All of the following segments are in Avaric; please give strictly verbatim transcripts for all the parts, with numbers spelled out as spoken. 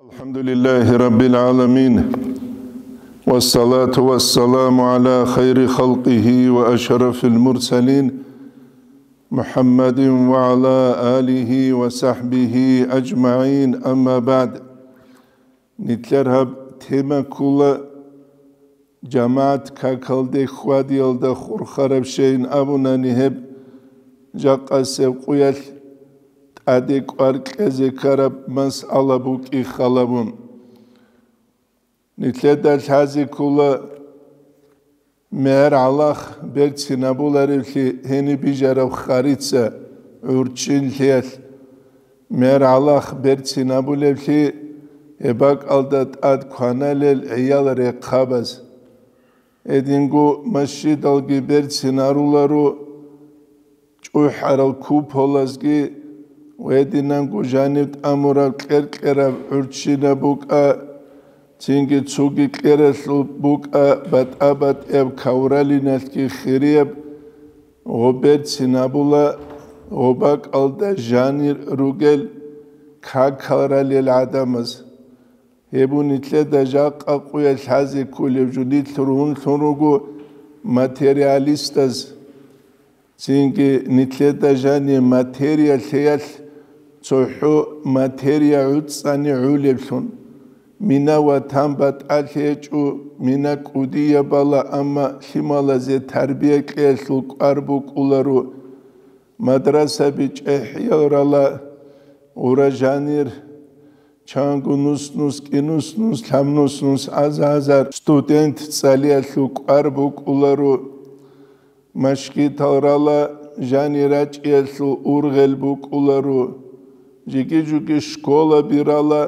الحمد لله رب العالمين، والصلاة والسلام على خير خلقه وأشرف المرسلين، محمد وعلى آله وصحبه أجمعين، أما بعد. Нилъер гьаб тема ккола жамагӀат какалде хьвадиялда хурхараб щайин абунани, гьеб жакъасеб къуялъ тӀаде кӀвар кьезе ккараб масъала букӀин хал гьабун. Нилъеда лъазе ккола мегӀер гӀалахъ берцинабуларевлъи гьениб бижараб харица гӀурччинлъиялъ, мегӀер гӀалахъ берцинабулевлъи гьеб бакӀалда тӀад кваналел гӀиял рехъабаз. Гьединго масжидалги берцинаруларо, чӀухӀарал куполазги ва гьединанго жанив тӀамураб кьер-кьераб гӀурччинаб букӀа, цинги цоги кьералъул букӀа батӀа-батӀияб кавралиналъги хирияб, гъо берцинабула, гъо бакӀалда жанир ругел какал ралел гӀадамаз. Гьеб нилъеда жакъа къуялъ лъазе кколеб жо нилъ ругьунлъун руго материалистаз. Цинги нилъеда жани материя лъеялъ цохӀо материя гӀуцӀани гӀулеблъун. Мина ватан батӀалъи гьечӀо, мина кӀудияб бала, амма лъималазе тарбия кьеялъул кӀвар букӀуларо. Мадрасаби чӀехӀиял рала, гъура жанир, чанго нус-нус, кӀинус-нус, лъабнус-нус, аза-азар студент цӀалиялъул кӀвар букӀуларо, машгитал рала, жани рачӀиялъул ургъел букӀуларо, жиги-жуги школаби рала,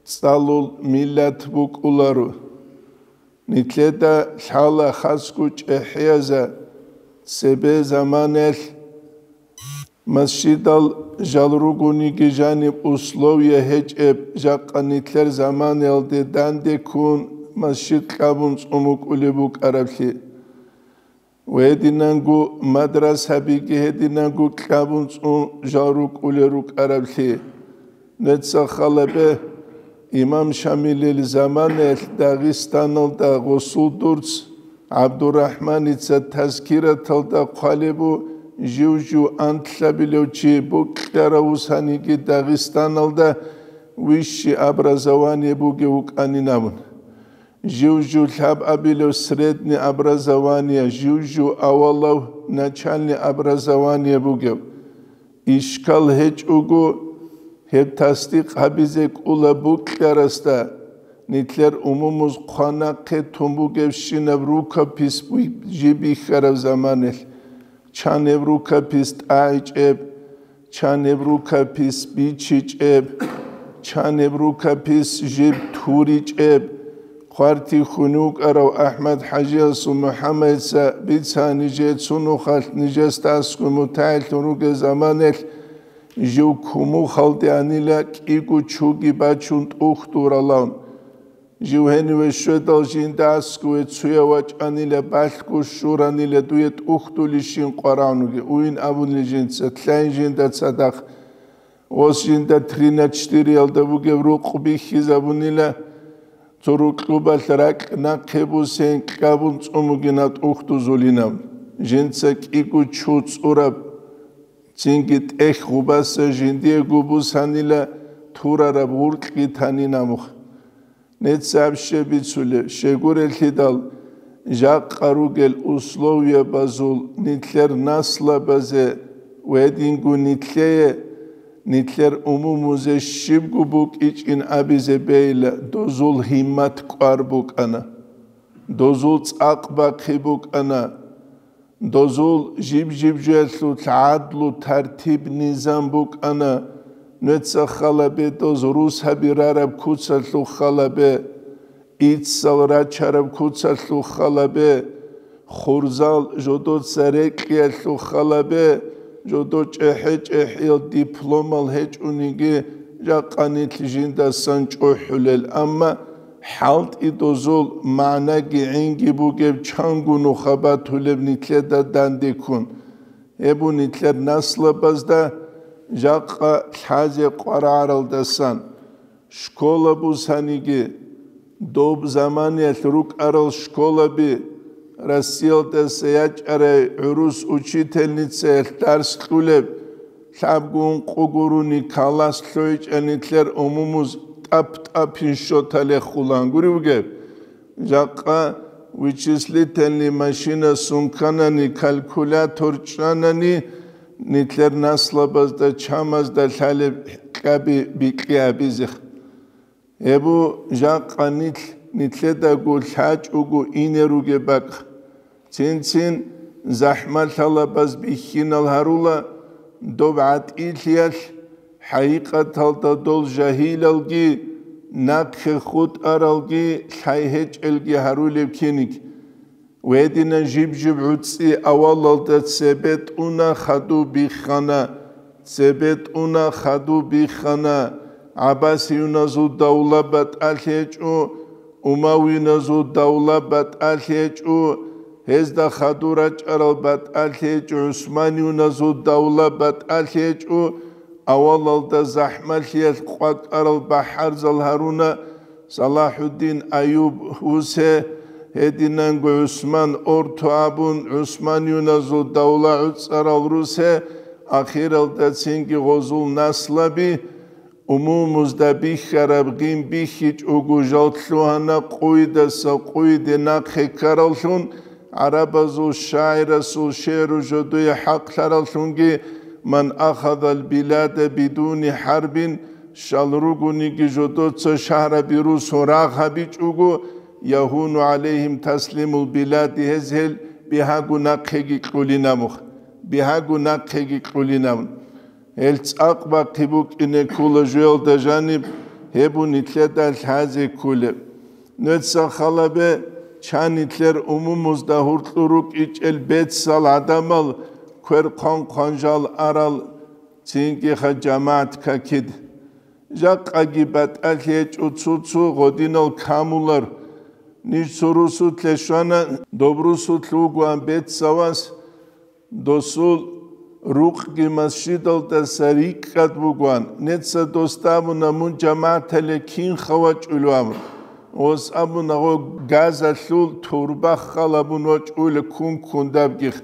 цӀалул миллат букӀуларо. Нилъеда лъала хасго чӀехӀияза цебе заманаялъ масжидал жал ругониги жаниб условия гьечӀеб, жакъа нилъер заманаялде данде ккун масжид кьабун цӀун букӀулеб букӀараблъи. Ва гьединанго мадрасабиги гьединанго кьабун цӀун жал рукӀулел рукӀараблъи. Нуца халабе, имам Шамилил заманаялъ Дагъистаналда гъосул дурц ГӀабдурахӀманица тазкираталда хъвалеб бу, жив-жив антлъабилев чи букьарав вусаниги Дагъистаналда высший образование бугев вукӀанин абун. Жив-жив лъабабилев средний образование, жив-жив авалав начальный образование бугев. Ишкал гьечӀого, гьеб тасдикъ гьабизе кӀула букьарасда, нилъер умумуз хъван нахъе тун бугебщинаб рукопись буй-, жиб бихьараб заманалъ. Чан гьеб рукопись тӀагӀичӀеб, чан гьеб рукопись бичичӀеб, чан гьеб рукопись жиб туричӀеб, хъвартихьун вукӀарав АхӀмад-хӀажиясул МухӀаммадица бицана нижее цо нухалъ нижесда аскӀове мутагӀиллъун ругел заманалъ, жив кумухалде анила кӀиго чуги бачун тӀухьдуралан. Жив гьениве щведал жинда аскӀове цуяв вачӀанила, балъго щуранила дуе тӀухьдулищин къварагӀунги, уйин абунила жинца, лъайин жинда цадахъ. Ос жинда три на четыреялда бугеб рукъ бихьизабунила, цо рукьубалъ ракь нахъе бусен кьабун цӀун бугин гьаб тӀухьдузулинаб. Жинца кӀиго чу цӀураб, цинги тӀехь гъубаса жиндиего бусанила турараб гъуркьги танин абухъ. Нецц аб щиб бицулеб, щегурелъидал, жакъа ругел условиябазул нилъер наслабазе ва гьединго нилъее, нилъер умумузе щибго букӀичӀин абизе бейила, дозул гьиммат кӀвар букӀана, дозул цӀакъ бахъи букӀана. Дозул жиб-жиб жоялъул гӀадлу, тартиб-низам букӀана, нуца халабе доз рус гьабирараб куцалъул халабе, иццал рачараб куцалъул халабе, хурзал жодоца рекьиялъул халабе, жодо чӀехӀе-чӀехӀиял дипломал гьечӀониги, жакъа нилъ жиндасан чӀухӀулел, амма хӀалтӀи дозул магӀнаги гӀинги бугеб чанго нуха батулеб нилъеда данде ккун. Гьеб бу нилъер наслабазда жакъа лъазе къварагӀаралдасан. Школа бусаниги, доб заманиялъ рукӀарал школаби, Россиялдаса ячӀарай гӀурус учительницаялъ дарс кьулеб, лъабгун къугуруни калас лъойчӀани нилъер умумуз тӀап-тӀапин щоталехулан гури бугеб. Жакъа вычислительный машина сунканани, калькулятор чӀанани, нилъер наслабазда чамазда лъалеб кьаби бикьи абизех. Гьеб бу жакъа нилъ, нилъедаго лъачӀого ине ругеб бакӀ. Цин-цин захӀмалъалабаз бихьинал гьарула, доб гӀатӀилъиялъ, хӀакъикъаталда дол жагьилалги, нахъе хутӀаралги, лъай гьечӀелги гьарулеб киник. Гьедина жиб-жиб гӀуцӀи авалалда цебетӀуна хадуб биххана, цебетӀуна хадуб биххана, гӀаббасиюназул давла батӀалъи гьечӀо, умавиназул давла батӀалъи гьечӀо, гьезда хадур рачӀарал батӀалъи гьечӀо, гӀусманиюназул давла батӀалъи гьечӀо, авалалда захӀмалъиялъ къвакӀарал бахӀарзал гьаруна, Салахьуддин Аюб вусе, гьединанго ГӀусман Орто абун, гӀусманиюназул давла гӀуцӀарал русе, ахиралда цинги гъозул наслаби, умумузда бихьараб гъин бихьичӀого жал лъугьана къуйдаса къуйде нахъе ккараллъун, гӀарабазул шагӀирасул шигӀру жодое хӀакълъараллъунги: «Ман ахадал билада бидуни хӀарбин», щал ругониги жодоца шагьраби русун рагъ гьабичӀого, «ягьуну гӀалайгьим таслимул билади», гьез гьел бигьаго нахъеги кьулинаб, бигьаго нахъеги кьулинаб. Гьел цӀакъ бахъи букӀине ккола жоялда жаниб, гьеб бу нилъеда лъазе кколеб. Нуца халабе, чан нилъер умумузда гьуркьур рукӀичӀел бецал гӀадамал квер хъван-хъван жал арал цинги ха жамагӀат какид. Жакъаги батӀалъи гьечӀо цо-цо гъодинал камулар. Ниж цо русулъе щвана, доб русулъ вугоан бецавас, досул рукъги масжидалдаса рикӀкӀад бугоан. Неца досда абуна, мун жамагӀатале кинха вачӀулев абун. Ос абуна, гъо газалъул турба халабун вачӀуле ккун-ккундабгих.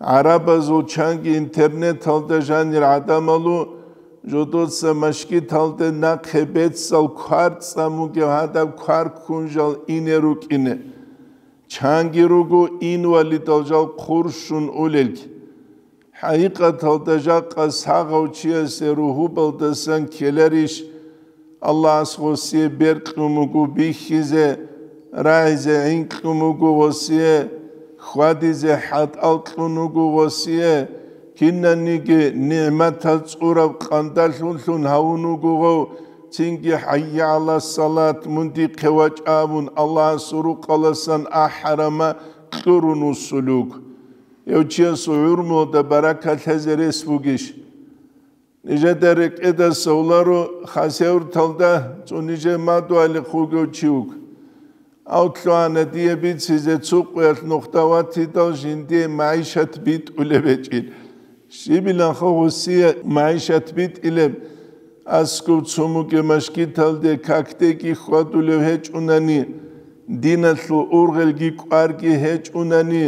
ГӀарабазул чанги интернеталда жанир гӀадамалу жодоца машгиталде нахъе бецал квар цӀамугев гьадаб квар ккун жал ине рукӀине. Чанги руго инвалидал жал хъурщун улелги. ХӀакъикъаталда жакъа сагъав чиясе ругьубалдасан ккеларищ? Аллагьас гъосие бер кьун буго бихьизе, рагӀизе гӀин кьун буго гъосие, хьвадизе хӀатӀал кьун буго гъосие, кинаниги нигӀматал цӀураб къандалъунлъун гьавун вуго гъов, цинги «ХӀайя гӀала салат, мун дихъе вачӀа» абун Аллагьасул рукъаласан ахӀарама кьурун вуссулев вуго. Гьев чиясул гӀумруялда баракат лъезе рес бугищ? Нижеда рекӀеда совларо хасеврталда цо нижер мадугьалихъ вугев чи вуго. Гьав лъугьана дие бицизе цо къуялъ нухда ватидал жиндие магӀишат битӀулеб гьечӀин. Щибиланха гъосие магӀишат битӀилеб? Аскуб цумуге машгиталде какдеги хьвадулев гьечӀунани, диналъул ургъелги кӀварги гьечӀунани,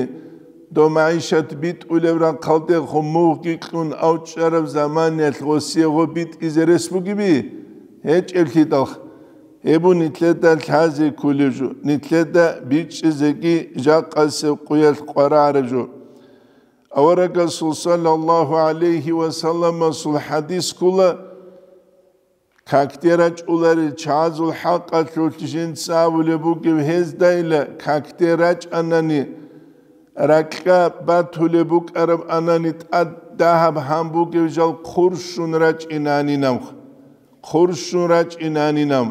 дов магӀишат битӀулев рахъалдехун мугъги кьун авчӀараб заманиялъ гъосие гъо битӀизе рес бугеби? ГьечӀеблъидалха. Гьеб бу нилъеда лъазе кколеб жо, нилъеда бичӀчӀизеги жакъасеб къуялъ къварагӀараб жо. Аварагасул саллаллагьу гӀалайгьи ва салламасул хӀадис ккола: «Какде рачӀуларел чагӀазул хӀакъалъулъ жинца абулеб бугеб гьездайила, какде рачӀанани, ракьа батулеб букӀараб анани тӀад дагьаб гьан бугев жал хъурщун рачӀинанинамха, хъурщун рачӀинанинам».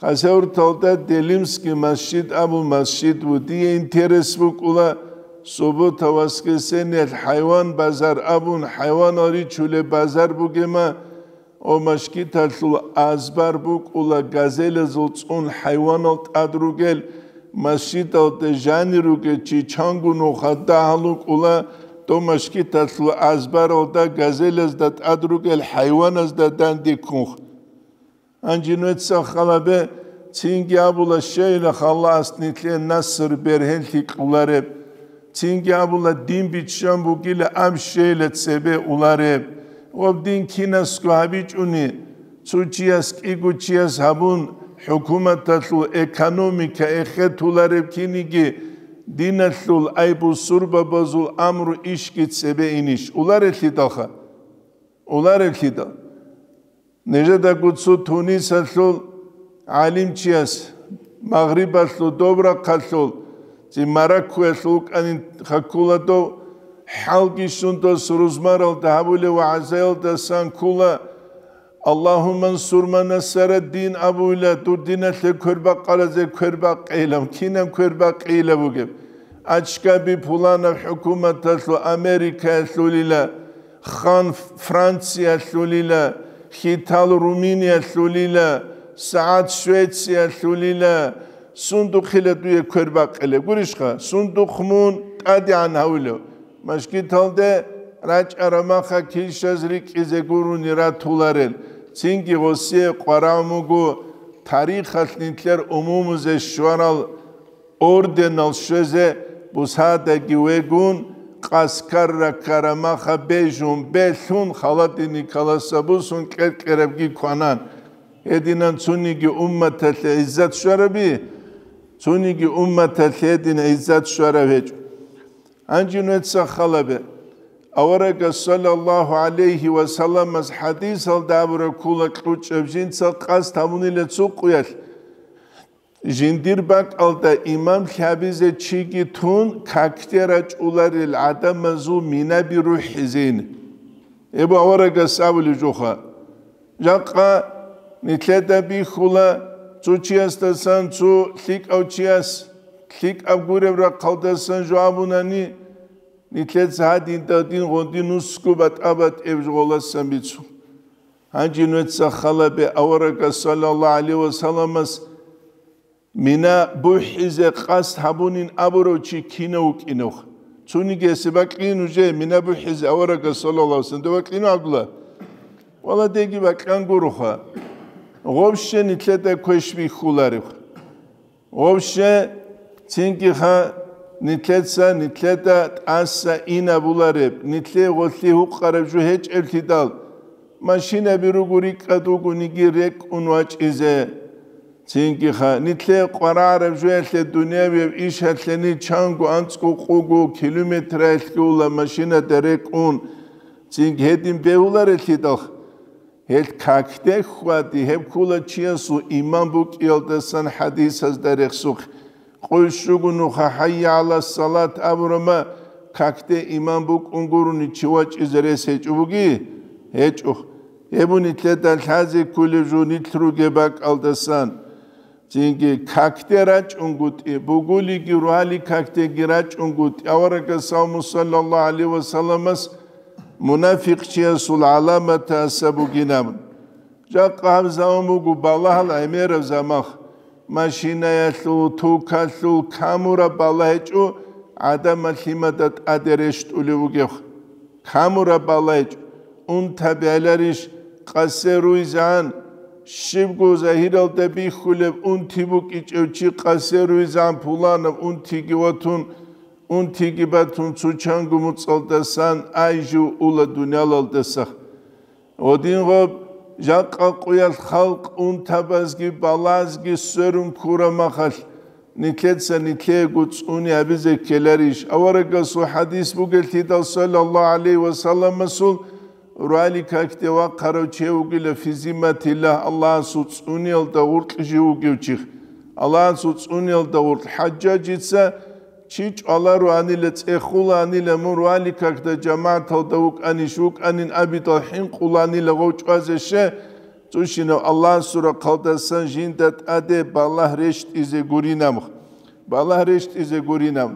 Хасавюрталда Делимский масжид абун масжид ву. Дие интерес букӀула, суббота-воскресеньялъ хӀайван базар абун, хӀайванал ричулеб базар бугема, о машгиталъул азбар букӀула, газелазул цӀун хӀайванал тӀад ругел, масжидалда жанир ругел чи чанго нуха дагьал вукӀула, дов машгиталъул азбаралда газелазда тӀад ругел хӀайваназда данде ккунха. Гьанже нужеца хал гьабе, цинги абула, щайила Аллагьас нилъее наср бергьенлъи кьолареб, цинги абула, дин биччан бугила, аб щайила цебе улареб. Ва дин кинасго гьабичӀони, цо чияс, кӀиго чияс гьабун, хӀукуматалъул экономика эхетулареб киниги, диналъул, ай бусурбабазул амру ишги цебе инищ? Уларелъидалха. Уларелъидал. Нижедаго цо Тунисалъул гӀалимчияс, Магърибалъул доб рахъалъул, ци Мароккоялъул вукӀанин хаккула дов, хӀалги щун дос рузмаралда гьабулев вагӀзаялдасан ккула, «Аллагьумма ансур ман насара дин» абуйла, дур диналъе квербакъаразе квербакъейилан, кинан квербакъейила бугеб? Ачкаби пуланаб хӀукуматалъул, Америкаялъулила, хан Франциялъулила, хитал Румыниялъулила, сагӀат Швециялъулила, сундухъила дуе квербакъилеб гурищха? Сундухъ мун тӀадегӀан гьавулев. Мажгиталде рачӀараб маха килщаз рикӀкӀизе гурони ратуларел, цинги гъосие къварагӀун буго тарихалъ нилъер умумузе щварал орденал щвезе, бусадаги вегун, къаскарра ккараб маха бежун, белъун, холодильникаласа бусун кьер-кьерабги кванан. Гьединан цониги умматалъе гӀиззат щвараби, цониги умматалъе гьедин гӀиззат щвараб гьечӀо. Гьанже нужеца хал гьабе. Аварагас саллаллагьу гӀалайгьи ва салламас хӀадисалда абураб ккола кьучӀаб жинца къасд гьабунила цо къуялъ. Жиндир бакӀалда имам лъабизе чиги тун, какде рачӀуларел гӀадамазул минаби рухӀизейин. Эбу аварагас абулеб жоха. Жакъа нилъеда бихьула, цо чиясдасан цо лъикӀав чияс, лъикӀаб гуреб рахъалдасан жо абунани, нилъеца гьадинда дин гъондин нусго батӀа-батӀияб жо гъоласан бицун. Гьанже нужеца хал гьабе, аварагас саллаллагьу гӀалайгьи ва салламас мина бухӀизе къасд гьабунин абурав чи кинав вукӀиневха? Цониги гьесие бакьин нужее мина бухӀизе аварагас саллаллагьу гӀалайгьи ва саллам, дов бакьинав гӀабдулла? Валлагь, деги бакьан гуроха. Гъобща нилъеда квеш бихьуларев. Вообще, цинги-ха, нилъеца, нилъеда тӀаса инабулареб, нилъее гъолъи гьукъараб жо гьечӀеблъидал, машинаби руго рикӀкӀад вугониги рекӀун вачӀизе. Цинги-ха, нилъее къварагӀараб жоялъе дунявияб ишалъе нилъ чанго анцӀго къуго километраялъ ккола машинада рекӀун, цинги гьедин бегьуларелъидал. Гьел какде хьвади, гьеб ккола чиясул иман букӀиялдасан хӀадисазда рехсухъ. Къуй щуго нуха «ХӀайя гӀала салат» абурама, какде иман букӀун гурони чи вачӀизе рес гьечӀо буги? ГьечӀо. Гьеб нилъеда лъазе кколеб жо нилъ ругеб бакӀалдасан. Цинги какде рачӀунгутӀи, бугулиги ругьали какдеги рачӀунгутӀи, аварагас салму саллаллагьу гӀалайгьи ва салламас мунафикъчиясул гӀаламатаса бугинаб. Жакъа гьаб заман буго балагьал гӀемераб замах, машинаялъул, тукалъул камураб балагь гьечӀо гӀадамал лъимада тӀаде рещтӀулев вугев. Камураб балагь гьечӀо, унта бегьларищ къасе руйзан, щибго загьиралда бихьулеб унти букӀичӀев чи къасе руйзан, пуланаб унтиги ватун, унтиги батун, цо чанго муцӀалдасан ай жив ула дуниялалдаса. Гъодин гъоб жакъа къуялъ халкъ унтабазги балазги сверун ккураб махалъ, нилъеца нилъеего цӀуни гьабизе ккеларищ? Аварагасул хӀадис бугелъидал, саллаллагьу гӀалайгьи ва салламасул, ругьали какде вахъарав чи вугила, фи зимматиллагь, Аллагьасул цӀуниялда гъуркь жив вугев чи. Аллагьасул цӀуниялда гъуркь. ХӀажжажица чи чӀваларуанила, цӀехуланила, мун ругьали какда жамагӀаталда вукӀанищ, вукӀанин абидал хӀинкъуланила гъов чӀвазе, ще, цӀущинав Аллагьасул рахъалдасан жинда тӀаде балагь рещтӀизе гуринаб. Балагь рещтӀизе гуринаб.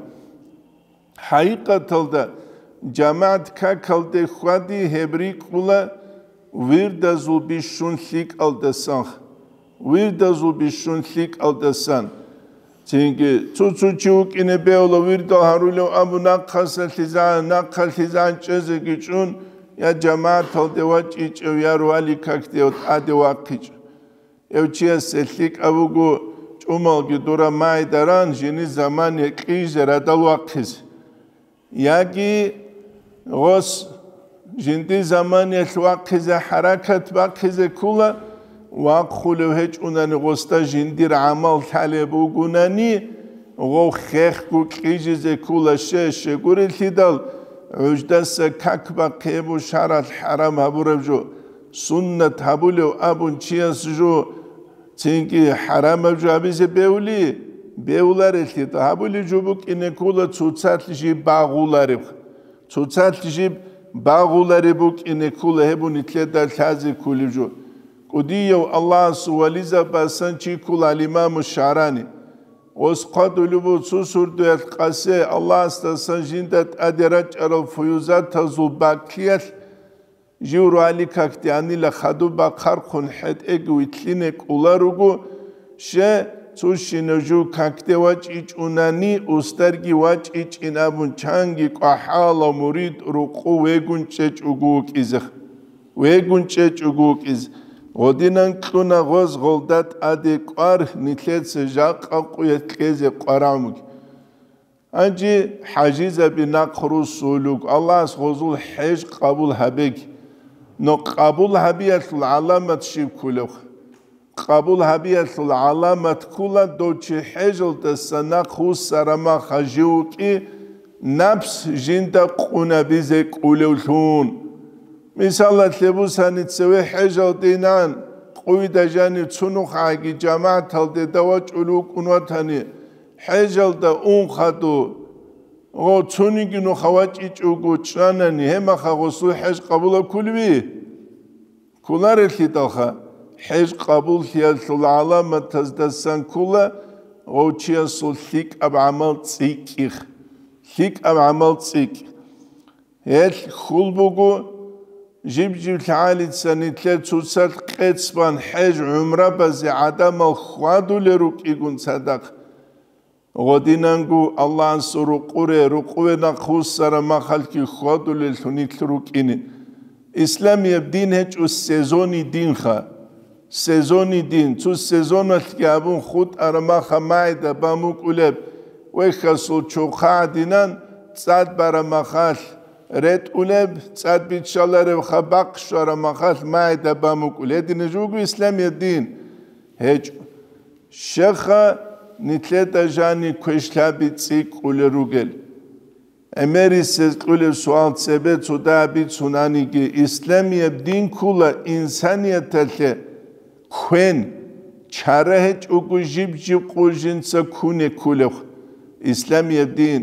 ХӀакъикъаталда, жамагӀат какалде хьвади гьеб рикӀкӀула вирдазул бищун лъикӀалдасан. Вирдазул бищун лъикӀалдасан. Цинги цо-цо чи вукӀине бегьула вирдал гьарулев абу нахъаса лъизан, нахъа лъизан чӀезеги чӀун, я жамагӀаталде вачӀичӀев, я ругьали какде тӀаде вахъичӀев. Гьев чиясе лъикӀаб буго чӀумалги дура магӀидаран жини замане кьижизе радал вахъизе. Яги гъос жинди заманиялъ вахъизе хӀаракат бахъизе ккола, вахъулев гьечӀунани гъосда жиндир гӀамал лъалеб бугунани, гъов хехго кьижизе ккола, щай-щай гурелъидал, гӀуждаса как бахъи гьеб шаргӀалъ хӀарам гьабураб жо, суннат гьабулев абун чияс жо, цинги хӀарамаб жо гьабизе бевли, бевларелъидал, гьабулеб жо букӀине ккола цоцалъ жиб багъулареб. Цоцалъ жиб багъулареб букӀине ккола гьеб нилъеда лъазе кколеб жо. КӀудияв Аллагьасул вализабасан чи ккола ал-Имаму ШагӀрани. Гъос хъвадулеб буго цо сордоялъ къасе Аллагьасдасан жинда тӀаде рачӀарал фуюзатазул бакӀлъиялъ, жив рагӀали какде анила хадуб бахъархъун хӀетӀеги вилълъине кӀоларуго, ще, цо щинав жив какде вачӀичӀунани, устарги вачӀичӀин абун чанги кӀвахӀала мурид рукъу вегун чӀечӀого вукӀизе. Вегун чӀечӀого вукӀизе. Гъодинан кьуна гъоз гъолда тӀаде кӀвар нилъеца жакъа къуялъ кьезе къварагӀмуги. Гьанже хӀажизаби нахъ руссулев, Аллагьас гъозул хӀеж къабул гьабеги. Но къабул гьабиялъул гӀаламат щиб кколев? Къабул гьабиялъул гӀаламат ккола дов чи хӀежалдаса нахъ вуссарамаха жив вукӀи, напс жинда къунабизе кӀулевлъун. Мисалалъе бусани, цеве хӀежалдинан къуйда жанив цунухъаги жамагӀаталде давачӀулев вукӀун ватани, хӀежалда ун хадув, гъо, цониги нуха вачӀичӀого чӀанани, гьемаха гъосул хӀеж къабулаб кколеви? Кколарелъидалха, хӀеж къабуллъиялъул гӀаламатаздасан ккола гъов чиясул лъикӀаб гӀамал цӀикӀкӀих. ЛъикӀаб гӀамал цӀикӀ. Гьелъ хьул буго, жиб-жиб лъагӀалица нилъер цоцалъ къецбан хӀеж-гӀумрабазе гӀадамал хьвадулел рукӀигун цадахъ. Гъодинанго Аллагьасул рукъуре, рукъуве нахъвуссараб махалъги хьвадулеллъун нилъ рукӀине. Исламияб дин гьечӀо сезонный динха. Сезонный дин, цо сезоналъги абун хутӀараб маха магӀида бан букӀулеб, вехьасул чурхъа гӀадинан цӀад бараб махалъ ретӀулеб, цӀад биччаларебха бахъ щвараб махалъ магӀида бан букӀулеб. Гьединаб жо буго исламияб дин. ГьечӀо. Щеха, нилъеда жани квешлъаби цӀикӀкӀулел ругел. ГӀемерисез кьулеб суал цебе цо дагьаб бицунаниги, исламияб дин ккула инсанияталъе квен, чара гьечӀого жиб-жиб къо жинца ккуне кколеб. Исламияб дин,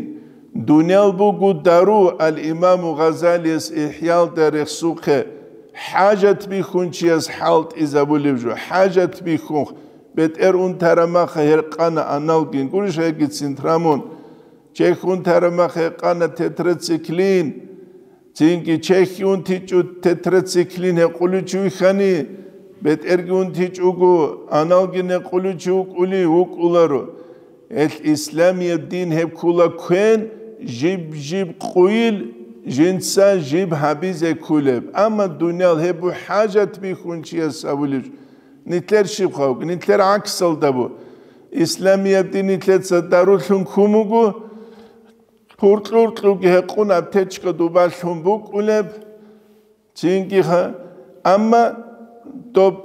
дуниял буго дару, ал-Имаму Гъазалияс ИхӀялда рехсухъе, хӀажат бихьун чияс хӀалтӀизабулеб жо, хӀажат бихьун, бетӀер унтараб маха гьеркъана аналгин, гурищ гьегицин трамун. Чехь унтараб маха гьеркъана тетрациклин. Цинги чехь унтичӀо тетрациклин гьекъулев чи вихьани, бетӀерги унтичӀого, аналгин гьекъулев чи вукӀулей вукӀуларо. Гьелъ исламияб дин гьеб ккула квен, жиб-жиб къойил, жинца жиб гьабизе кколеб. Амма дуниял гьеб бу хӀажат бихьун чияс абулеб. Нилъер щибха вуго, нилъер гӀаксалда бу. Исламияб дин нилъеца дарулъун ккун буго, пуркьуркьуги гьекъун аптечка дубалъун букӀулеб, цинги ха-, амма доб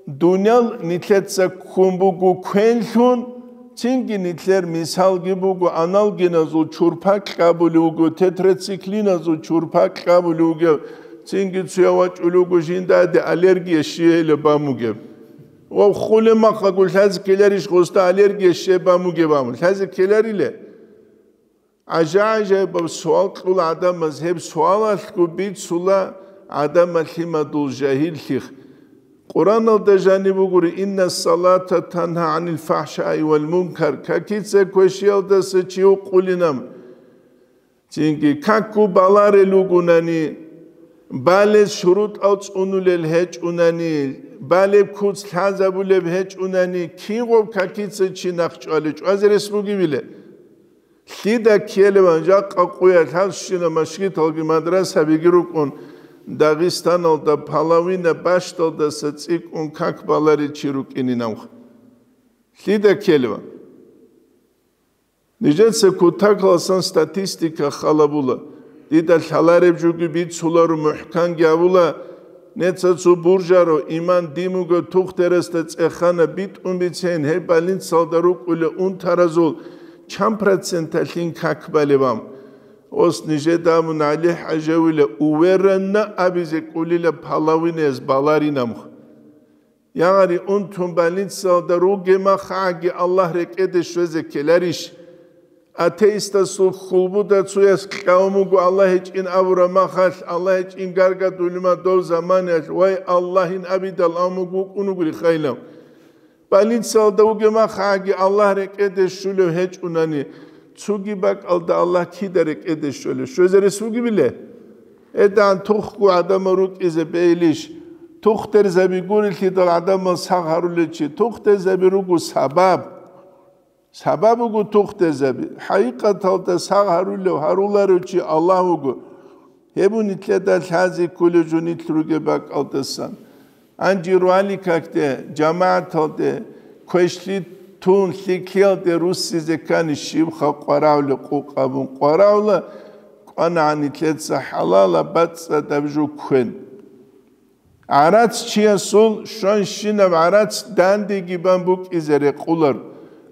дуниял нилъеца ккун буго квенлъун, цинги нилъер мисалги буго, аналгиназул чурпа кьабулев вуго, тетрациклиназул чурпа кьабулев вугев, цинги цуя вачӀулев вуго жиндаде аллергия щиялеб бан бугеб. Ва хуле махъаго лъазе ккеларищ гъосда аллергия щиб бан бугеб абун? Лъазе ккелариле? ГӀажа-гӀажаибаб суал кьула гӀадамаз, гьеб суалалъго бицула гӀадамал лъимадул жагьиллъи. Къураналда жаниб бугури: «Инна салата тангьа гӀанил фахӀшаи вал мункар», какица квешиялдаса чи вукъулинам. Цинги какго баларел ругунани, балез шурутӀал цӀунулел гьечӀунани, балеб куц лъазабулеб гьечӀунани, кигъоб какица чи нахъ чӀвалев чӀвазе рес бугебиле? Лъида ккелеван, жакъа къуялъ гьабщина машгиталги мадрасабиги рукӀун, Дагъистаналда половина бащдалдаса цӀикӀкӀун как баларел чи рукӀинин абха. Лъида ккелева? Нижеца кутакаласан статистика халабула. Дида лъалареб жуги бицуларо, мухӀканги абула, неца цо буржаро, иман дин буго, тухтерасда цӀехана, битӀун бицен, гьеб больницалда рукӀула унтаразул чан проценталъин как балеб ам? Ос нижеда абун, ГӀали-ХӀажавила, уверенно абизе кӀолила, половинаяс баларин абха. Ягъари, унтун больницалда ругеб махагӀаги Аллагь рекӀеде щвезе ккеларищ? Атеистасул хьулбуда цояс кьавун буго Аллагь гьечӀин абураб махалъ, Аллагь гьечӀин гаргадулима дов заманаялъ, вай, Аллагьин абидал абун буго вукӀун вугури хайлав. Больницалда вугеб махагӀаги Аллагь рекӀеде щулев гьечӀунани, цоги бакӀалда Аллагь кида рекӀеде щолев? Щвезарес вугебиле? Эдан тухго гӀадамал рукӀизе бейилищ? Тухтерзаби гурелъидал гӀадамал сагъ гьарулел чи. Тухтерзаби руго сабаб. Сабаб буго тухтерзаби. ХӀакъикъаталда сагъ гьарулев, гьаруларев чи Аллагь вуго. Гьеб нилъеда лъазе кколев жо нилъ ругеб бакӀалдасан. Гьанже руали какде, жамагӀаталде, квешлъи тун, лъикӀлъиялде руссизе ккани щибха къваравли къукъабун къваравла, кӀванагӀан нилъеца хӀалала бацӀцӀадаб жо кквен. ГӀарац чиясул щванщинаб гӀарац дандеги бан букӀизе рекъолар.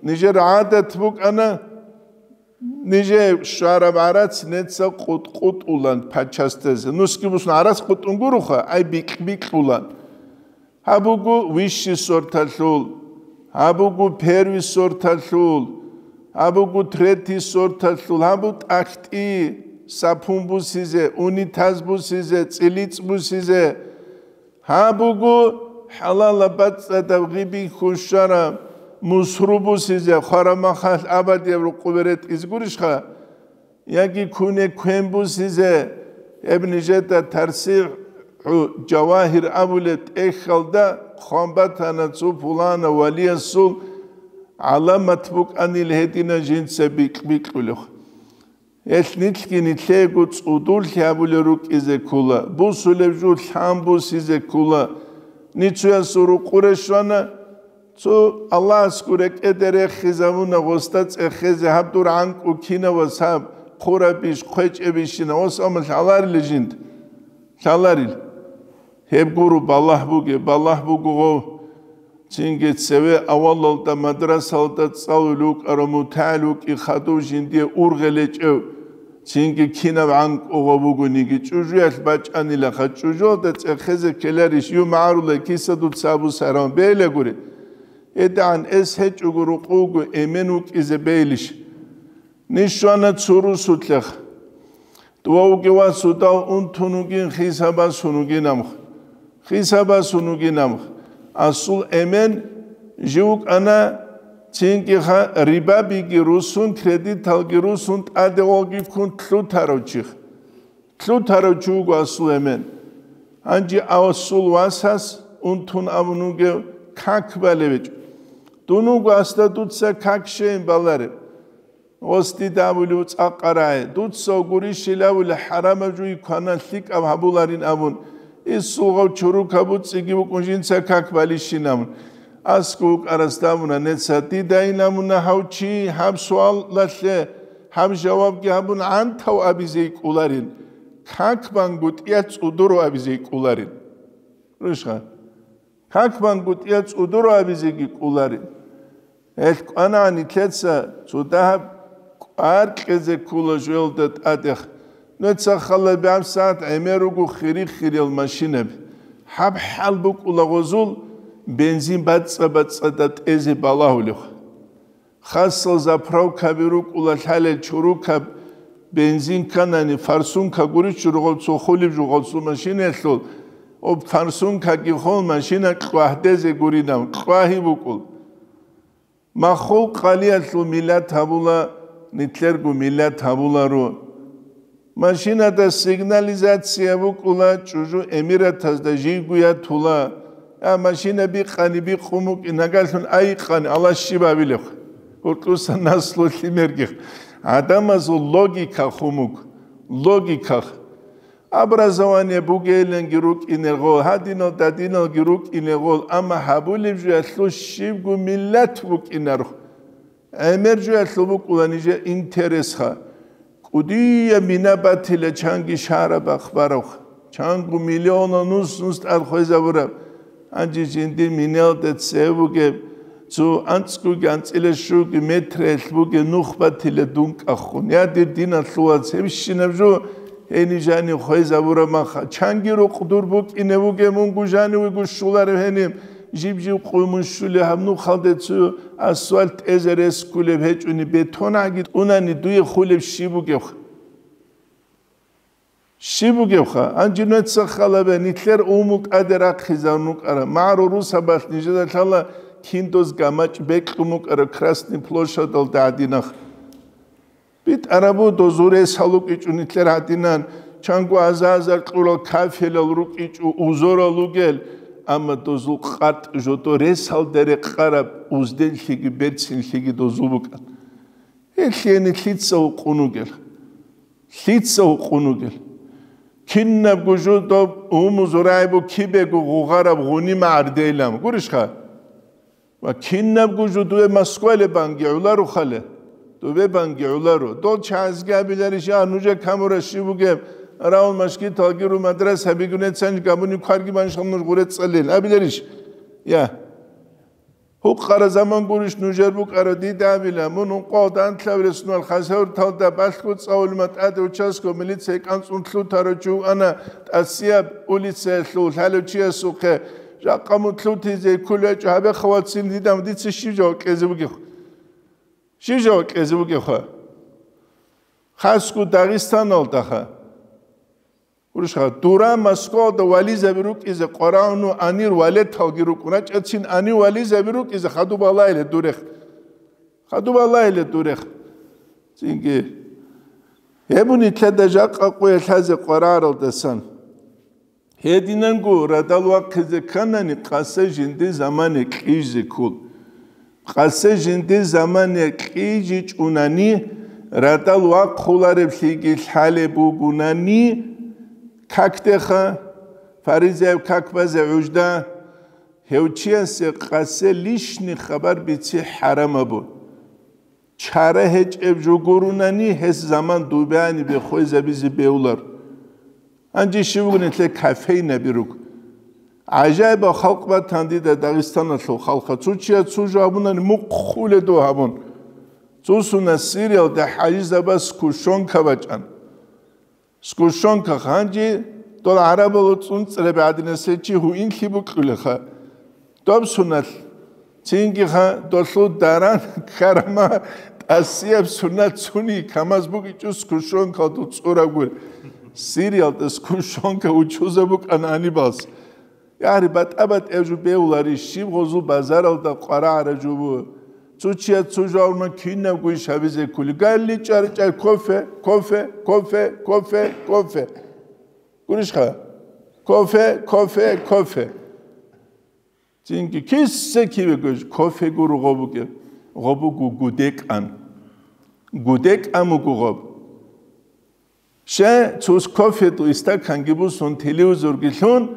Нижер гӀадат букӀана, нижер щвараб гӀарац неца къутӀ-къутӀулан пачастезе. Нусги бусун гӀарац къутӀун гуроха, ай бикь-бикьулан. Гьаб буго вищий сорталъул, гьаб буго первый сорталъул, гьаб буго третий сорталъул, гьаб буго тӀахьтӀи, сапун бусизе, унитаз бусизе, цӀилицӀ бусизе, гьаб буго хӀалала бацӀцӀадаб гъиби хьущара, мусру бусизе, хварамахалъ абадияб рукъубе ретӀизе гурищха? Яги куне квен бусизе, гьеб нижеда тарсихӀу жавагьир абулеб тӀехьалда хъван батана цо пулана валиясул гӀаламат букӀанил гьедина жинца бикь-бикьулев. Гьелъ нилъги нилъего цӀудурлъи гьабулел рукӀизе ккола, бусулеб жо лъан бусизе ккола. Ничуясул рукъуре щвана, цо Аллагьасго рекӀеде рехизабуна гъосда цӀехезе, гьаб дур гӀанкӀу кинавас гьаб, хъурабищ, хъвечӀебищина, ос амма лъаларила жинда? Лъаларил. Гьеб гуро балагь бугеб, балагь буго гъов. Цинги цеве авалалда мадрасалда цӀалулев вукӀарав мутагӀил вукӀин хадув жиндие ургъел гьечӀев, цинги кинаб гӀанкӀу гъов вугониги, чӀужуялъ бачӀанилаха, чӀужуялда цӀехезе ккеларищ, юмагӀарулай киса дуца абусарав бейлагури? ГьедигӀан эс гьечӀого рукъуго эмен вукӀизе бейилищ? Ниж щвана цо русулъех. Дова вугев васудав унтун вугин, хисабасун вугин амх. Хисабасун вугин амх. Асул эмен жив вукӀана, цинкӀиха рибабиги русун, кредиталги русун, тӀаде гъолги ккун лъутарав чих. Лъутарав чи вуго асул эмен. Гьанже асул васас унтун абун вугев как балевичӀ. Дун вуго асда дуца как щейин балареб. Ос дида абулев цӀакъарай, дуца гурищилавули хӀарамаб жуй квана лъикӀаб гьабуларин абун, исулгъав чурукаб буцӀиги букӀун жинца как балищин абун. АскӀов вукӀарасда абуна, неца дидайин абуна гьав чи гьаб суалалъе гьаб жавабги гьабун гӀантав абизе йикӀуларин, как бангутӀиялъ цӀудурав абизе йикӀуларин. Рушха. Как бангутӀиялъ цӀудурав абизеги кӀуларин. Гьелъ кӀванагӀан нилъеца цо дагьаб кӀвар кьезе ккола жоялда тӀадех. Нуца хала бегӀаб сагӀат гӀемер руго хири-хириял машинаби. Гьаб хӀал букӀула гъозул бензин бацӀцӀа-бацӀцӀадаб тӀезе балагьулев. Хасал заправкаби рукӀула лъалел чурукаб бензин кканани, форсунка гурищ жургъав цо хулеб жугъав цо машинаялъул, об форсункаги хол машина кьвагьдезе гуринав, кьвагьи букӀул. Маххул къалиялъул миллат гьабула, нилъерго миллат гьабуларо. Машинада сигнализация букӀула, чӀужу эмиратазда жийгу ятула. А машина бикъани бикъун букӀин, нагагьлъун айикъани, Аллагь щиб абилеб? Гьуркьуса наслу лъимергих. ГӀадамазул логика хумук. Логика. Образование бугейиланги рукӀинел гъол, гьадинал-дадиналги рукӀинел гъол, амма гьабулеб жуялъул щибго миллат букӀинаро. ГӀемер жуялъул букӀула нижер интересха. КӀудияб мина батила чанги шараб ахбаравха, чанго миллионал нус-нус тӀад хвезабураб. Гьанже жиндир минелда цеве бугеб, цо анцӀгоги анцӀила щуги метраялъ бугеб нух батила дункӀахъун. Я, дир диналъул вац, гьебщинаб жо гьениб жанив хвезабураб маха. Чанги рукъ дур букӀине бугеб, мунго жанивего щуларев гьениб, жиб-жиб къуй мун щулеб гьаб нухалде цо асфальт тӀезе рес кколеб гьечӀони, бетон гӀаги тӀунани дуе хулеб щиб бугебха? Щиб бугебха? Гьанже нужеца халабе, нилъер умул тӀаде рахъизарун рукӀараб, магӀарул русабалъ нижеда лъала киндоз гамачӀ бекьун букӀараб Красный площадалда гӀадинах. БитӀарабу дозул рес гьалукӀичӀо нилъер гӀадинан, чанго аза-азар кьурал кафелал рукӀичӀо, узорал ругел, амма дозул къартӀ жодо ресалда рекъараб узденлъиги берцинлъиги дозул букӀан. Гьелъие нилъ лъица гьукъун вугел? Лъица гьукъун вугел? Кинабго жо доб умузурайбу кибего гъугъараб гъунима гӀардейилан. Гурищха? Ва кинабго жо дубе Москвале банги гӀоларо хъале. Дубе банги гӀоларо. Дол чагӀазги абиларищ, я, нужер камура щиб бугеб, равал машгиталги ру мадрасаби гунецанж габуни кварги маншал нуж гъуре цӀалел. Абиларищ? Я. Гьукъара заман гурищ нужер букӀара дида абила, мун ункъо данлъавила сунал Хасавюрталда балъго цӀалулма тӀаде участковый милиция кӀанцӀун лъутарав чи вуана ТӀасияб улицаялъул лъалев чиясухъе, жакъа мун лъутизе кколев гьечӀо, гьабеха вацин дида, дица щиб жаваб кьезе бугеб? Щиб жаваб кьезе бугебха? Хасго Дагъистаналдаха. Гурищха, дура Москвалда вализаби рукӀизе къварагӀуну анир валеталги рукӀун рачӀацин, ани вализаби рукӀизе хадуб Аллагьиле дурех. Хадуб Аллагьиле дурех. Цинги гьеб нилъеда жакъа къуялъазе къварагӀаралдасан. Гьединанго радал вахъизе кканани, къасе жинди замане кьижзе ккол. Къасе жинди замане кьижичӀунани, радал вахъулареблъиги лъалеб бугунани, какдеха, фаризаяб как базе гӀужда, гьев чиясе къасе лишни хабар бици хӀарамабу. Чара гьечӀеб жо гурунани, гьес заман дубани бехойзабизе бевлар. Гьанже щив вугин нилъер кофейнаби руг? ГӀажаибал халкъ батан дида Дагъистаналъул халкъа. Цо чияс цо жо гьабунани мухъ хуле дов гьабун. Цо сунат Сириялда хӀажизабаз сгущёнка бачӀан. Сгущёнка ханжи дол гӀарабала цӀунцӀраби гӀадинас гьечи гьуинлъи букьулеха. Доб суналъ. Цингиха долъул даран ккарама тӀасияб сунат цуни камаз бугичӀо сгущёнкалда цӀурабгур. Сириялда сгущёнка учузаб букӀан гьанибалс. Ягьри, батӀа-батӀияб жо бевлари, щиб гъозул базаралда къварагӀара жо бу. Цо чияс цо жавурман кинабго иш гьабизе ккули. Галли чӀарчӀай кофе, кофе, кофе, кофе, кофе. Гурищха? Кофе, кофе, кофе. Цинги киса кивего кофе гуро гъобуге. Гъобугу гудекӀан. ГудекӀан буго гъоб. Ще цус кофе тӀу истаканги бусун, телевизорги лъун,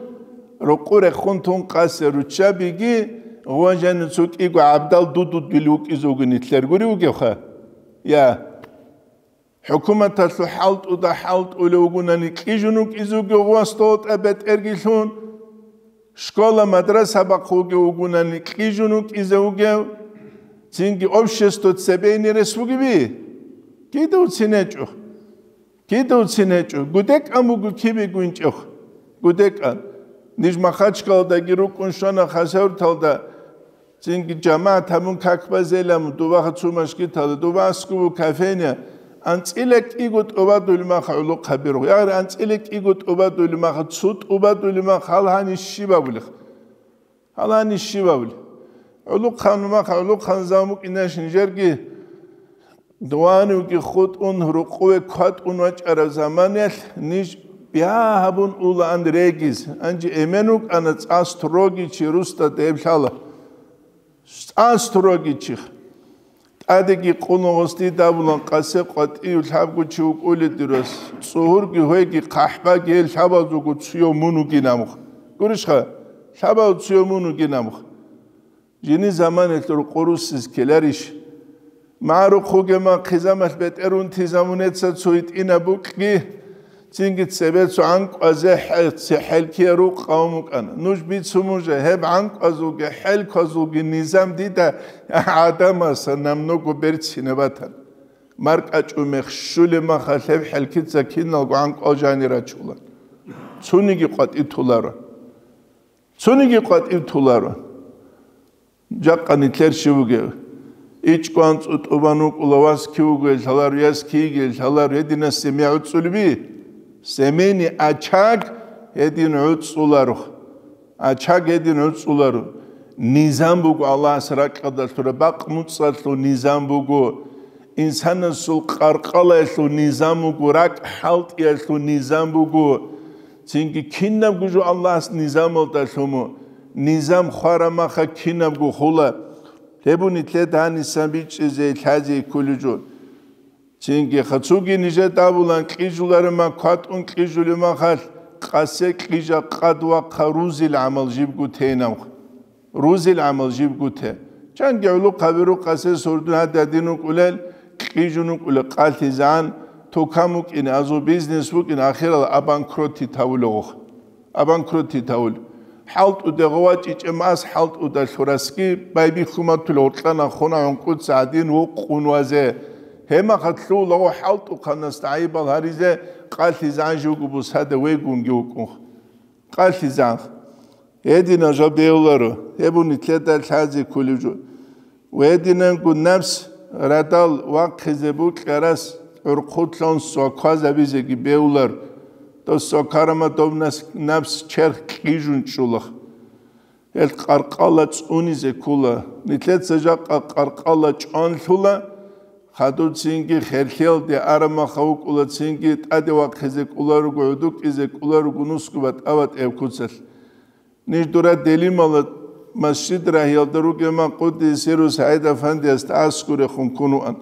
рокъу рехун тун къасе руччабиги, гъважани цо кӀиго гӀабдал дудудил вукӀизе вугин итлъар гури вугевха? Я. ХӀукуматалъул хӀалтӀуда хӀалтӀулев вугунани кьижун вукӀизе вугев гъвас долтӀа бетӀерги лъун, школа-мадраса бахъуге вугунани кьижун вукӀизе вугев, цинги общество цебейни рес вугеби? Кида уцин гьечӀо? Кида уцин гьечӀо? ГудекӀан буго кибе гуинчӀев? ГудекӀан. Ниж Махачкалдаги рукӀун щвана Хасавюрталда, цинги жамагӀат гьабун как базелам, дубаха цо машгитала, дуба аскубу кофейня, анцӀила кӀиго тӀубадулмаха гӀулухъ гьабиргъу. Ягъри анцӀила кӀиго тӀубадулмаха, цо тӀубадулмаха гьал гьанищ щиб абулех? Гьалани щибабли? ГӀулухъан, мах гӀулухъан замукӀинаш нижерги дуванивги хутӀун, рукъуве кватӀун вачӀараб заманаялъ ниж бягьабун улаан региз, гьанже эмен вукӀана цӀа строгий чи русда деб лъала. ЦӀа строгий чи. Адеги къулун гъосди дабулан къасе къватӀив лъабго чи вукӀулел дирос, цӀугьурги гьвеги хъахӀбаги гьел лъабазулго цуяв мун вугин амх. Гурищха? Лъабав цуяв мун вугин амх. Жини заманалъур къурусиз ккеларищ? МагӀарухъ вугема хъизамалъ бетӀерун тизамунеца цо гьитӀинаб букьги, цинги цебе цо гӀанкӀвазе хӀе-, цехӀелкияр рукъ гьавун вукӀана. Нуж бицун мужа, гьеб гӀанкӀвазулги хӀелквазулги низам дида гӀадамаса намного берцинаб батан. МаркӀачӀумех щулеб махалъ гьеб хӀелкица киналго гӀанкӀвал жани рачула. Цуниги къватӀи толаро. Цуниги къватӀив толаро. Жакъа нилъер щив вугев? ИчӀго анцӀу тӀубан вукӀула, вас кив вугев лъаларо, яс киги лъаларо, гьединасде мегӀуцӀулев би? Семейный очаг гьедин гӀуцӀуларо. Очаг гьедин гӀуцӀуларо. Низам буго Аллагьас ракьалда лъура, бакъ-муцӀалъул низам буго. Инсанасул къаркъалаялъул низам буго, ракӀ хӀалтӀиялъул низам буго. Цинги кинабго жо Аллагьас низамалда лъумо, низам хварамаха кинабго хула. Гьеб нилъеда гьанисан бичӀчӀизе лъазе кколев жо. Цинги хацуги нижеда абулан кьижуларема кватӀун кьижулев махалъ, къасе кьижа къад вахъа рузил гӀамал жибго тейнавха. Рузил гӀамал жибго те. Чанги гӀулухъ гьабирухъ къасе сордун гьададин вукӀулел, кьижун вукӀулел къалъизегӀан, тукан вукӀин, азу бизнес вукӀин, ахирал абанкротит гьавулев вух. Абанкротит гьавул. ХӀалтӀуде гъовачӀичӀеб мас хӀалтӀуда лъурасги, байбихьуматул гьоркьана хона гӀункӀуца гьадин вукъун вазе. Гьемахалъ лъулаго хӀалтӀухъанасда гӀайибал гьаризе, къалъизегӀан живго бусада вегунги вукӀунх. Къалъизанх. Гьединал жо бегьуларо, гьеб нилъеда лъазе кколев жо. Ва гьединанго напс радал вахъизе букьарас гӀурхъулъун сваквазабизеги бегьулар, дос свакарама дов нас-, напс черх кьижун чӀулах. Гьел къаркъала цӀунизе ккула. Нилъеца жакъа къаркъала чӀванлъула, хадуцинги херлъиялде арамаха вукӀула, цинги тӀаде вахъизе кӀуларуго, гӀудукӀизе кӀуларуго нусго батӀа-батӀияб куцалъ. Ниж дура делимала масжид рагьиялда ругема къуддиса сирругьу СагӀид-афандиясда аскӀурехун ккун вуан.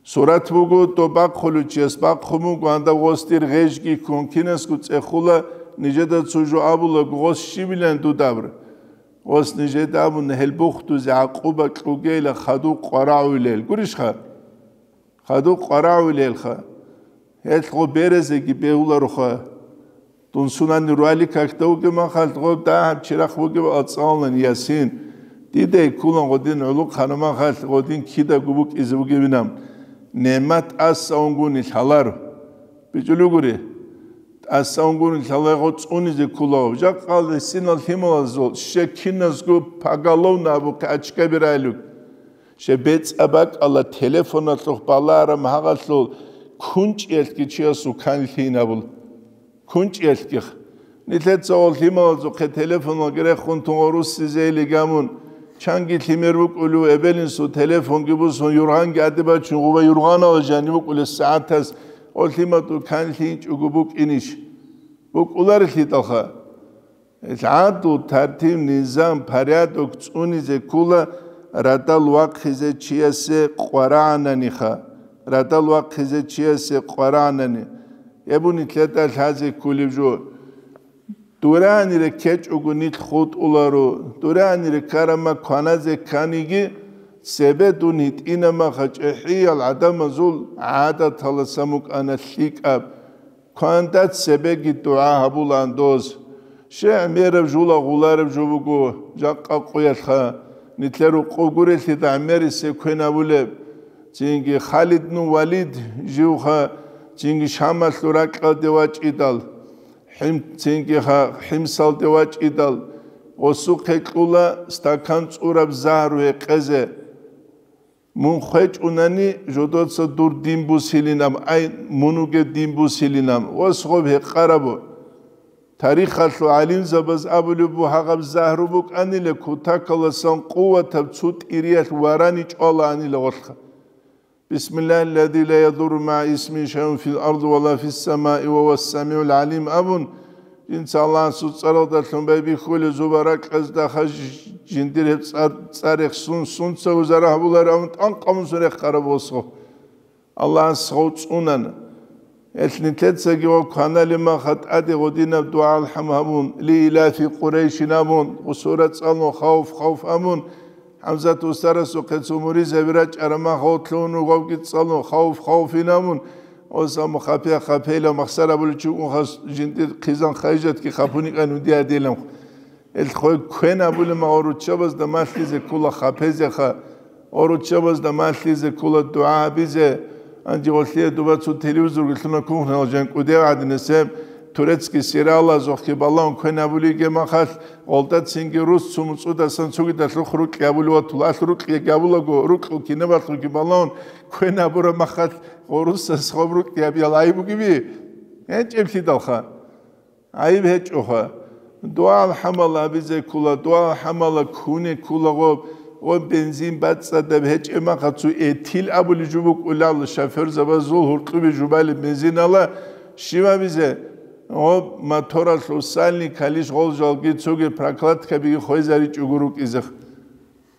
Сурат буго, доб бахъулев чияс бахъун буго, гьандаго гъос дир гъежги ккун, кинасго цӀехула, нижеда цо жо абулаго, гъос щибилан дуда абра. Гъос нижеда абуна, гьел бухдузе гӀакъуба кьугейила хадуб къварагӀуилел. Гурищха? Хадуб къварагӀуилелха. Гьелъ гъо березеги бегьулароха. Дун сунани руали какда вугеб махалъ гъо дагьаб чирахъ бугеб ацӀалнани ясин. Дидай ккулан гъодин гӀулухъ ханамахалъ гъодин кидаго букӀизе бугебинаб. НигӀмат тӀаса унгуни лъалар. БичӀулев гури. ТӀаса унгуни лъалай гъо цӀунизе ккулаго. Жакъа гьесинал лъималазул щекиназго поголовно абухъе очкаби райлуг. Щеб бецӀа бакӀала телефоналъухъ балараб гьагъалъул кунчӀиялъги чиясул канлъи гьабула. КунчӀиялъгих. Нилъеца гъол лъималазухъе телефоналги рехун тун гъорусизейли гамун, чанги лъимер вукӀулев эбелинсул телефонги бусун, юргъанги гӀаде бачун, гъуба юргъанала жанив вукӀулес сагӀатас гъол лъиматул канлъи инчӀого букӀинищ? БукӀуларелъидалха. ГӀадлу, тартиб, низам, порядок цӀунизе ккула радал вахъизе чиясе къварагӀананиха, радал вахъизе чиясе къварагӀанани. Гьеб нилъеда лъазе кколеб жо. Дуранире ккечӀого нилъ хутӀуларо, дуранире ккарама кваназе кканиги, цебе дун гьитӀинамаха чӀехӀиял гӀадамазул гӀадаталасан букӀана лъикӀаб. Кванда цебеги дугӀа гьабулаан доз. Щай гӀемераб жула гъулареб жо буго жакъа къуялъха, нилъер рукъов гурелъида гӀемерисеб квен абулеб. Цинги Халид бну Валид живха, цинги Шамалъул ракьалде вачӀидал, Хим-, цинги ха-, Химсалде вачӀидал, гъосухъе кьула стакан цӀураб загьру гьекъезе. Мун хвечӀунани, жодоца дур дин бусилинаб, ай, мун вугев дин бусилинаб, ва сгъоб гьекъарабу. Тарихалъул гӀалимзабаз абулеб буго, гьагъаб загьру букӀанила, кутакаласан къуватаб цо тӀириялъ варани чӀвалаанила гъолъха. Бисмиллагьи ллази ла ядурру магӀа исмигьи шайъун фил арзи ва ла фис самаи ва гьува ссамигӀул гӀалим абун, жинца Аллагьасул цӀаралдалъун байбихьулел зуба ракьазда хаж-, Жиндир гьеб цӀар, цӀар рехсун, сунца узара гьабуларев, амма тӀанкъамусун рехараб восго. Аллагьас гъов цӀунана. Гьелъ нилъецаги ва кваналеб маха тӀаде гъодинаб дугӀа-алхӀам гьабун, ли илафи Къурайшин абун, гъусура цӀалун, хавф, хавф абун, ХӀамзат устарасухъе цо муридзаби рачӀараб мах гъов лъугьун вугевги цӀалун, хавф, хавфин абун, ос амма хапе, хапейилан махсар абулев чи вукӀун хас жиндир хъизан хайжатги хапуникӀан уди гьадилан. Ил хой квен абулеб магӀу руччабазда малъизе ккола хапезеха, ва руччабазда малъизе ккола дугӀа гьабизе. Гьанже гъолъие дуба цо телевизорги лъуна кухнял жан кӀудев гӀадинасеб, турецкий сериалазухъги балагьун квен абулиге махалъ, гъолда цинги рус цо муцӀудасан цогидалъухъ рукьи абулев ватула, алъ рукьи габулаго, рукьул кинабалъухъги балагьун квен абураб махалъ, гъо русас гъоб рукьи гьабиял гьай бугеби? ГьечӀеблъидалха. ГӀайиб гьечӀоха. Дуал хӀамал абизе ккола, дуал хӀамала ккуне ккола гъоб, гъоб бензин бацӀцӀадаб гьечӀеб маха цо этил абулеб жо букӀулал шофёрзабазул гьуркьубе жубалеб бензинала щиб абизе? Гъоб моторалъул сальникалищ гъол жалги цоги прокладкабиги хвезаричӀого рукӀизех.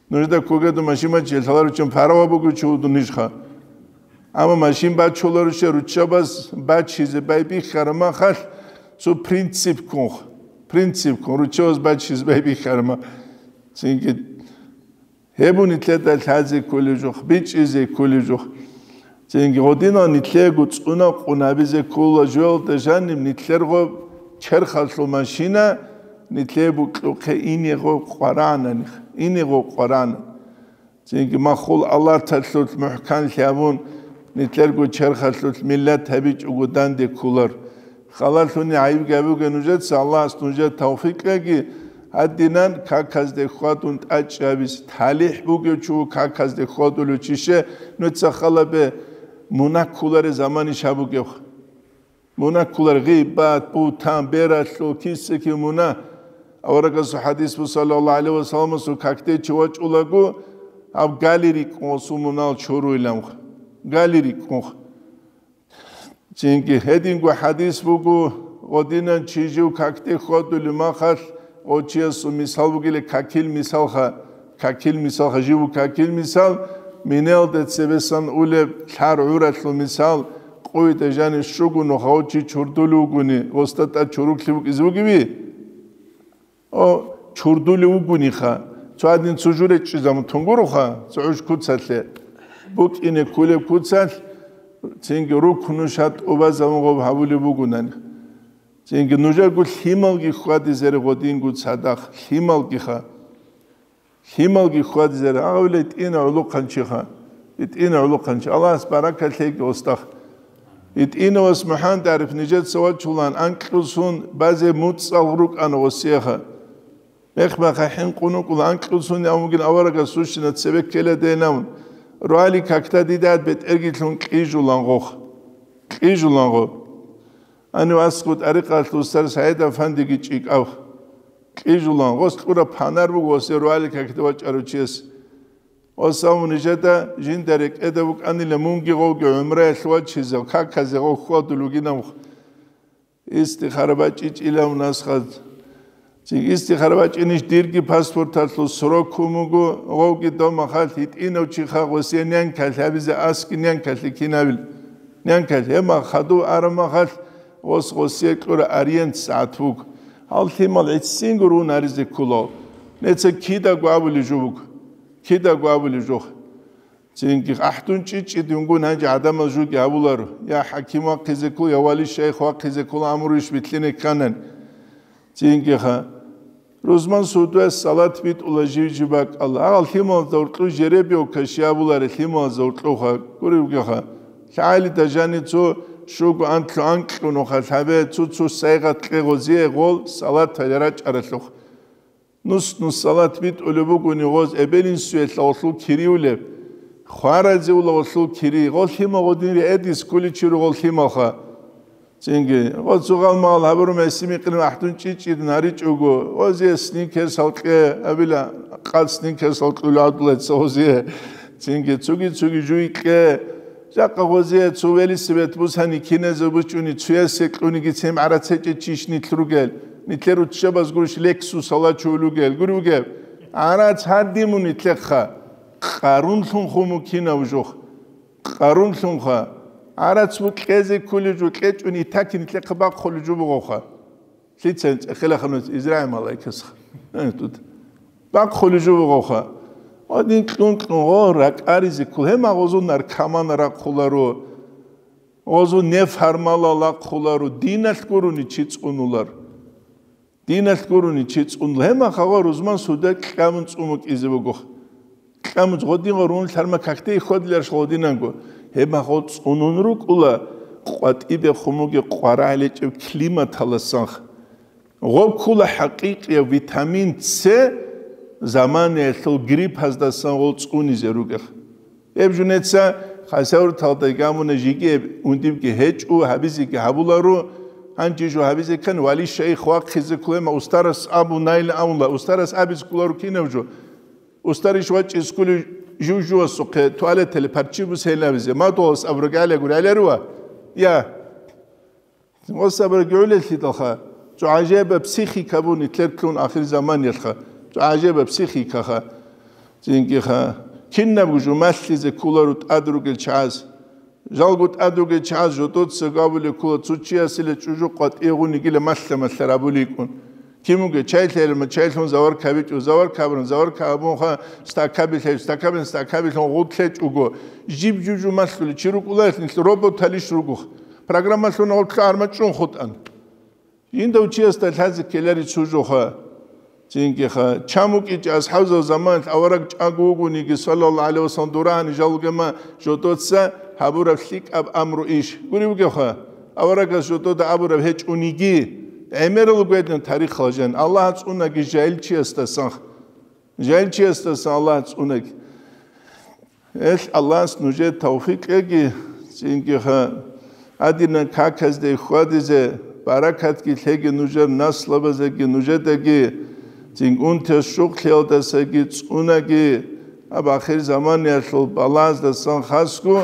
Нужда ккогеду машин бачи, лъаларуччан парава бугев чи вуго нижха. Амма машин бачуларуше руччабаз бачизе байбихьараб махалъ цо принципккун, принципккун руччабаз бачизе байбихьараб ма-, цинги гьеб нилъеда лъазе кколеб жо, бичӀчӀизе кколеб жо. Цинги гъодинал нилъего цӀунакъун гьабизе ккола жоялда жаниб нилъерго черхалъул машина нилъее букьухъе инего къваранани, инего къварана. Цинги махул алаталъулъ мухӀканлъи гьабун, нилъерго черхалъулъ миллат гьабичӀого данде кколар. Халалъуни гӀайибги гьабуге нужеца, Аллагьас нужее тавфикъ кьеги, гьадинан каказде хьвадун тӀачӀи гьабизе, талихӀ бугев чи ву каказде хьвадулев чище, нуца халабе мунагь кколареб заманищ гьабугевха. Мунагь кколар гъибат, бугьтан, бералъул, киса-кив мунагь. Аварагасул хӀадис буго, саллаллагьу гӀалайгьи ва салламасул, какде чи вачӀулаго, гьаб гали рикӀкӀун гъосул мунагьал чуруйилан. Гали рикӀкӀун. Цинги гьединго хӀадис буго, гъодинан чи жив какде хьвадулеб махалъ, гъо чиясул мисал бугила какил мисалха, какил мисалха, жив какил мисал, минелда цебесан улеб лъар гӀуралъул мисал, къуйда жанив щуго нуха гъо чи чурдулев вугони, гъосда тӀад чуруклъи букӀизе бугеви? О, чурдулев вугониха, цо гьадин цо журе чӀезамун тунгуруха, цо гӀуж куцалъе, букӀине кколеб куцалъ, цинги рукну шат тӀубазабун гъоб гьабулеб бугонани. Цинги нужерго лъималги хьвадизаре гъодинго цадахъ, лъималгиха. Лъималги хьвадизаре, агъавила итӀина гӀулухъанчиха, итӀина гӀулухъанчи. Аллагьас баракат лъеги гъосдахъ. ИтӀинавас МухӀаммад ГӀариф нижеца вачулан анкьусун базе муцӀал рукӀана гъосиеха. Мехмаха хӀинкъун вукӀула анкьусун, я вугин аварагас сущина цебе ккеладейнавун. Руали какда дидад бетӀергилъун кьижулан гъох. Кьижулан гъо. Гьанив аскӀу тӀарикъалъ устар СагӀид-афандиги чӀикӀав. Кьижулан, гъос кьураб панар буго гъосе руали какде вачӀарав чияс. Гъос абун нижеда жинда рекӀеда вукӀанила мунги гъовги гӀумраялъ вачизе, каказе гъов хьвадул вугинав. Истихара бачӀичӀилав насхаз. Цин истихара бачӀинищ дирги паспорталъул срок ккун буго, гъовги домахалъ гьитӀинав чиха гъосие нянкалъ гьабизе аски нянкалъе кинабил. Нянкалъ гьема хадув арамахалъ гъос гъосие кьура ориент сагӀат вуг. Гьал лъимал гӀиццинго рун гьаризе кколал. Неца кидаго абулеб жо буго. Кидаго абулеб жо. Цинги ахӀдун чӀичӀи дунгун гьанже гӀадамал жуги гьавуларо. Я хӀаким вахъизе ккол, я вали шайх вахъизе ккол, амру иш битлъине кканан. Цинги ха. Рузман судуяс салат битӀула жив-жив бакӀалла. Агъал лъималазда уркьу жеребьевка щиабуларе лъималазда уркьуха. Гуревгиха. ЛъагӀалида жани цо щуго анлъу анкьунуха лъабе, цо-цо сайгъат кье гъозие гъол салат гьале рачӀаралъух. Нус-нус салат битӀулеб бугони гъоз эбел-инсуе лъавалъул кириулеб. Хваразе улагъулъул кири, гъол лъимал гъодин риэдис кколичи ругъол лъималха. Цинги, гъо цугъал магъал гьабуру меси микъирин ахӀдун чӀичӀидин гьаричӀого, гъозие сникерс гьалкье, абила къад сникерс гьалкьули гӀадулаца гъозие. Цинги, цуги-цуги жуй кье, жакъа гъозие цо велосипед бусани кинезе бучӀуни, цуясе кьуниги цем гӀарацечӀе чиш нилъ ругел, нилъер руччабаз гурищ Лексус гьалачул ругел, гури вугев? ГӀарац гьадимун итлъехъа, Къарунлъун хумукинав жух. Къарунлъунха, гӀарац букьезе ккулев жо кьечӀун итакин итлъехъа бахъулев жо бугоха. Лъицаин цӀехелаханус Израил малайкасха. Э, тут. Бахъулев жо бугоха. Гъодин кьун-кьун гъо ракӀаризе ккол. Гьема гъозул наркоман рахъуларо. Гъозул неф гьармала лахъуларо. Диналъ гурони чи цӀунулар. Диналъ гурони чи цӀун. Гьема хагъа рузман суда кьамун цӀумукӀизе буго. Кьамун гъодин гъорун лъарма какде хьвадиларш гъодинанго. Гьема гъо цӀунун рукӀула къватӀибе хумуге къварагӀлечӀеб климаталасанх. Гъо ккула хӀакъикъияв витамин С заманаялъул гриппаздасан гъол цӀунизе ругех. Гьеб жунеца хасаврталда гамуна жиги гьеб ундибги гьечӀо, гьабизеги гьабуларо, гьанчи жо гьабизе ккан вали шайх вахъизе кколема устарас абу найла авла, устарас абизе кколаро кинав жо. Устарищ вачӀиз кколев жив-жувасухъе туалетале парччи бусейин абизе, мадугьалас абурагӀалиягур гӀеларува? Я. Гъосабра гӀолеллъидалха, цо гӀажаиба психика буни тӀеркьун ахир заманиялъха, цо гӀажаиба психикаха, цинкӀиха, кинабго жо малъизе кколаро тӀад ругел чагӀаз. Жалго тӀад ругел чагӀаз жодоца габулеб ккола цо чиясила чӀужу къватӀигъунигила малъа-малъа рабуликӀун. Кимуге чай лъелма чайлъун завар кабичӀо, завар кабран, завар кабунха стакаби лъел, стакабин стакабилъун гъуд лъечӀого. Жиб-жужу малъули чи рукӀуларилъ нилъ роботалищ ругух. Программалъун гъоркьа армачӀун хутӀан. Жиндав чиясда лъазе ккелари цо жоха. Цинкиха, чамукӀичӀ асхӀабзал заманалъ авараг чӀаго вугониги, саллаллагьу гӀалайгьи вассалам, дурагьани жалгама жодоца гьабураб лъикӀаб амру иш. Гури вугевха, аварагас жодода абураб гьечӀониги, гӀемерал гведин тарихал жан, Аллагь цӀунаги жайил чиясдасан. Жайчиясдасан Аллагь цӀунаги. Эл Аллагьас нужер тавфикъ кьеги, цинги ха, гьадинан каказде хьвадизе, баракатги лъеги нужер наслабазеги, нужедаги, цинги унтиялъ щукълъиялдасаги цӀунаги, гьаб ахир заманиялъул балагьаздасан хасго,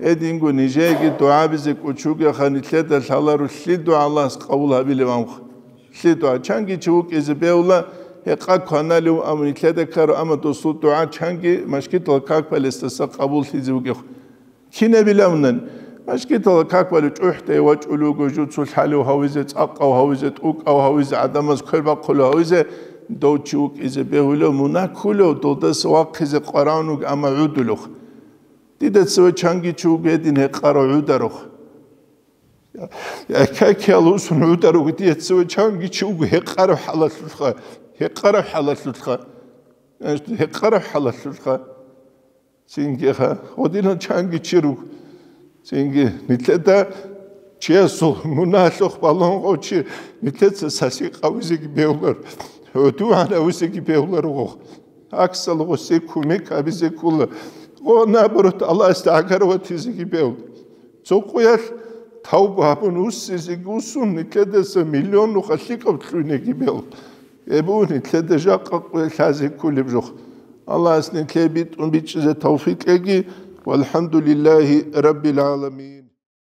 гьединго нижееги дугӀабизе кӀочуге ха, нилъеда лъаларо лъидо Аллагьас къабул гьабилев амха. Лъидо, чанги чи вукӀизе бегьула, гьекъа кваналев, амма нилъеда ккаро, амма досул дугӀа чанги машгитал как балесдаса къабуллъизе вугев. Кинабилавнан, машгитал как балев чӀухӀдай вачӀулев вуго, жуцу лъалев гьавизе, цӀакъав гьавизе, тӀукӀав гьавизе, гӀадамаз квер бахъулев гьавизе, дов чи вукӀизе бегьулев, мунагь кколев, долдаса вахъизе къваравнуг, амма гӀудулев. Дида цеве чанги чи вуго гьедин гьекъарав гӀударав. Я, какиял усун гӀудар вугитияцеве чанги чи вуго гьекъарав хӀалалъулъха, гьекъарав хӀалалъулъха, гьекъарав хӀалалъулъха. Цинги ха, гъодинал чанги чи руг. Цинги нилъеда чиясул мунагьалъухъ балагьун гъов чи, нилъеца саси къавизеги бегьулар, гӀудугӀан авизеги бегьулар гъов. Аксал гъосие кумек гьабизе ккола. Гъо, наоборот, Аллагьасда гӀагарав ватизеги бегьул. Цо къоялъ тавба гьабун уссизеги уссун, нилъедаса миллион нуха лъикӀаб кьуниги бегьул. Эбу, нилъеда жакъа къоялъ лъазе кколеб жох. Аллагьас нилъее битӀун бичӀчӀизе тавфикъ кьеги. ВалхӀамдулиллагьи раббил гӀаламин.